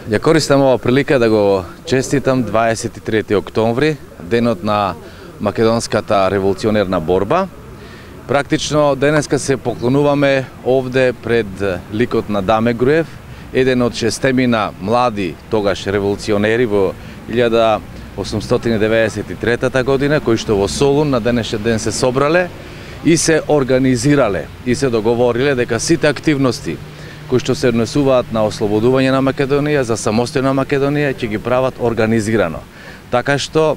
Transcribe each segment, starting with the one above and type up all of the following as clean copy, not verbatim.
Ја користам ова прилика да го честитам 23 октомври, денот на македонската револуционерна борба. Практично денеска се поклонуваме овде пред ликот на Даме Груев, еден од шестемина млади тогаш револуционери во 1893 година, кои што во Солун на денешен ден се собрале и се организирале и се договориле дека сите активности кои што се однесуваат на ослободување на Македонија, за самостојна Македонија, ќе ги прават организирано. Така што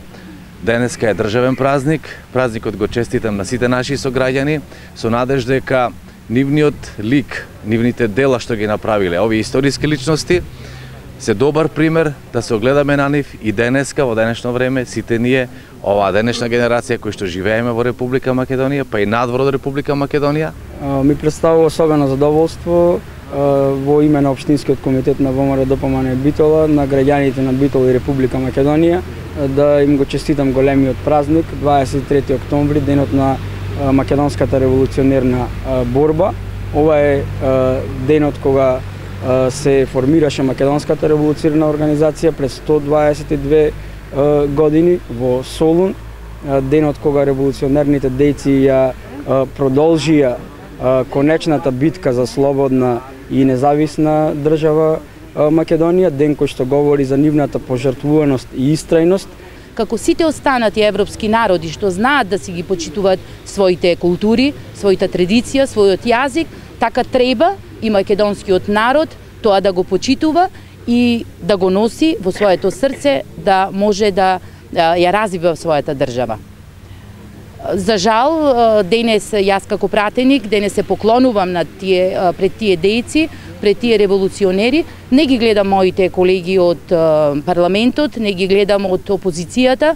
денеска е државен празник, празникот го честитам на сите наши сограѓани, со надеж дека нивниот лик, нивните дела што ги направиле овие историски личности, се добар пример да се огледаме на нив и денеска, во денешно време, сите ние, оваа денешна генерација кои што живееме во Република Македонија, па и надвор од Република Македонија. Ми представува особено задоволство во име на Општинскиот комитет на ВМРО ДПМН Битола, на граѓаните на Битола и Република Македонија, да им го честитам големиот празник, 23 октомври, денот на македонската револуционерна борба. Ова е денот кога се формираше македонската револуционерна организација пред 122 години во Солун, денот кога револуционерните дејци ја продолжија конечната битка за слободна и независна држава Македонија, ден кој што говори за нивната пожртвуваност и истрајност. Како сите останати европски народи што знаат да си ги почитуваат своите култури, својата традиција, својот јазик, така треба и македонскиот народ тоа да го почитува и да го носи во своето срце, да може да ја развива својата држава. За жал, денес јас како пратеник, денес се поклонувам на пред тие дејци, пред тие револуционери. Не ги гледам моите колеги од парламентот, не ги гледам од опозицијата,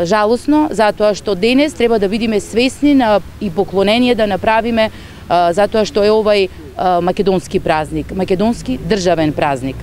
жалосно, затоа што денес треба да бидеме свесни и поклонение да направиме, затоа што е овај македонски празник, македонски државен празник.